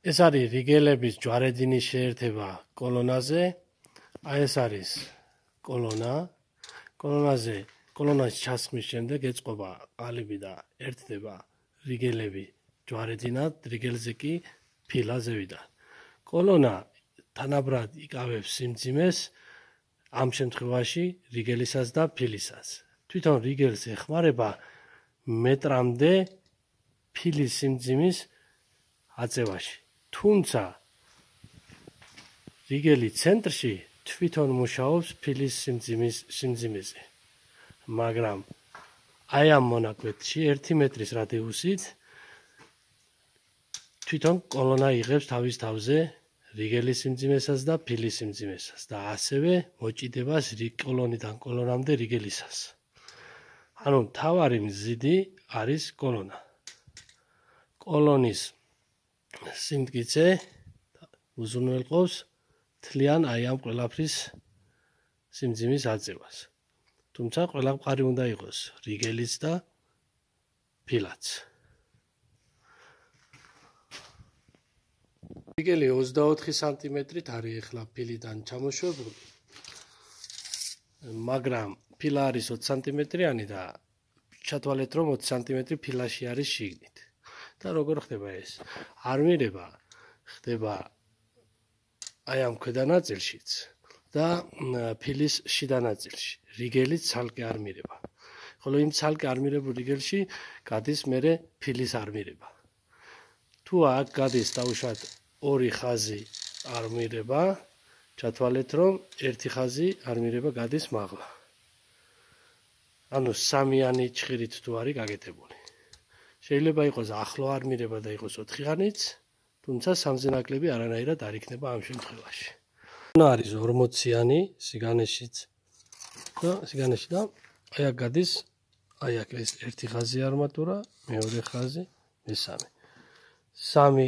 ეს არის რიგელების ჯვარედინის შეერთება კოლონაზე. აი ეს არის კოლონა. კოლონას ჩასხმის შემდეგ ეწყობა ყალიბი და ერთდება რიგელები ჯვარედინად, რიგელზე კი ფილა ზევიდან. კოლონა თანაბრად იკავებს სიმძიმეს ამ შემთხვევაში რიგელისას და ფილისას. თვითონ რიგელს ეხმარება მეტრამდე ფილის სიმძიმის აწევაში. თუმცა რიგელი ცენტრში თვითონ მუშაობს ფილის სიმძიმეზე. მაგრამ აი ამ მონაკვეთში 1 მეტრის რადიუსით თვითონ კოლონა იღებს თავის თავზე რიგელის სიმძიმესას და ფილის სიმძიმესას და ასევე მოჭიდებას კოლონიდან კოლონამდე რიგელისას. ანუ მთავარი მზიდი არის კოლონა. კოლონის სიმტკიცე უზრუნველყოფს მთლიან აი ამ ყველაფრის სიმძიმის აწევას. თუმცა ყველა მყარი უნდა იყოს რიგელიც და ფილაც. რიგელი 24 სანტიმეტრით არის ახლა ფილიდან ჩამოშვებული, მაგრამ ფილა არის 20 სანტიმეტრიანი და ჩათვალეთ რომ 20 სანტიმეტრი ფილაში არის შიგნით. და როგორ ხდება ეს? არმირება ხდება აი ამ ქვედა ნაწილშიც და ფილის შიდა ნაწილში. რიგელიც ცალკე არმირება. ხოლო იმ ცალკე არმირებულ რიგელში გადის მერე ფილის არმირება. თუ აქ გადის დაუშვათ ორი ხაზი არმირება, ჩათვალეთ რომ ერთი ხაზი არმირება გადის მაღლა. ანუ სამიანი ჩხირით თუ არის გაკეთებული. შეიძლება იყოს ახლო არმირება და იყოს 4-ხანიც, თუმცა სამზე ნაკლები არანაირად არ იქნება ამ შემთხვევაში. არის 40-იანი სიგანეში და აი აქ გადის, აი აქ ეს ერთი ხაზი არმატურა, მეორე ხაზი, მესამე. 3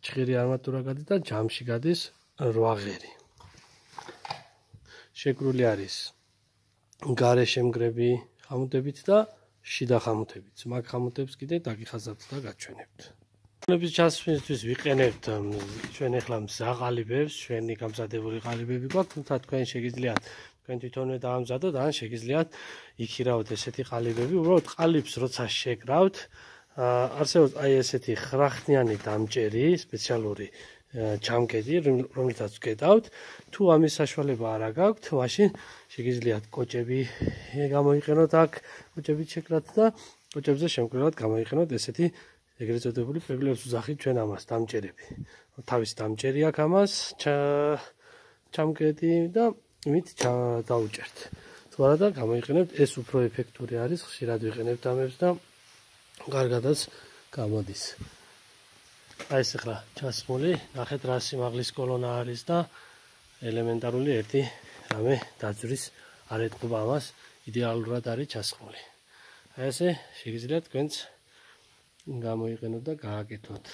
ჩხირი არმატურა გადის და ჯამში გადის 8 ღერი. შეკრული არის გარე შემგრები ხამუტებით და შიდა ხამუტებით. მაგ ხამუტებს კიდე დაგიხაზავთ და გაჩვენებთ. კოლონების ჩასხმისთვის ვიყენებთ ჩვენ ახლა მზა ყალიბებს, ჩვენი გამზადებული ყალიბები გვაქვს, თუმცა თქვენ შეგიძლიათ თქვენ თვითონვე დაამზადოთ, ან შეგიძლიათ იქირავოთ ესეთი ყალიბები. უბრალოდ ყალიბს როცა შეკრავთ, არსებობს აი ესეთი ხრახნიანი დამჭერი, სპეციალური ჩამკედი, რომელთაც ვკედავთ. თუ ამის საშუალება არ გაქვთ, მაშინ შეგიძლიათ კოჭები გამოიყენოთ აქ, კოჭებით შეკრათ და კოჭებზე შემკრელად გამოიყენოთ ესეთი ეგრეთ წოდებული პეპლებს ვძახით ჩვენ ამას დამჭერები. თავის დამჭერი აქვს ამას ჩამკედი და იმით დაუჭერთ. თუ არა და გამოიყენებთ, ეს უფრო ეფექტური არის, ხშირად ვიყენებთ ამებს და კარგადაც გამოდის. აი ეს ახლა ჩასხმული, ნახეთ რა სიმაღლის კოლონა არის და ელემენტარული ერთი რამე დაძვრის არ ეთყობა ამას, იდეალურად არის ჩასხმული. აი ესე შეგიძლიათ თქვენც გამოიყენოთ და გააკეთოთ.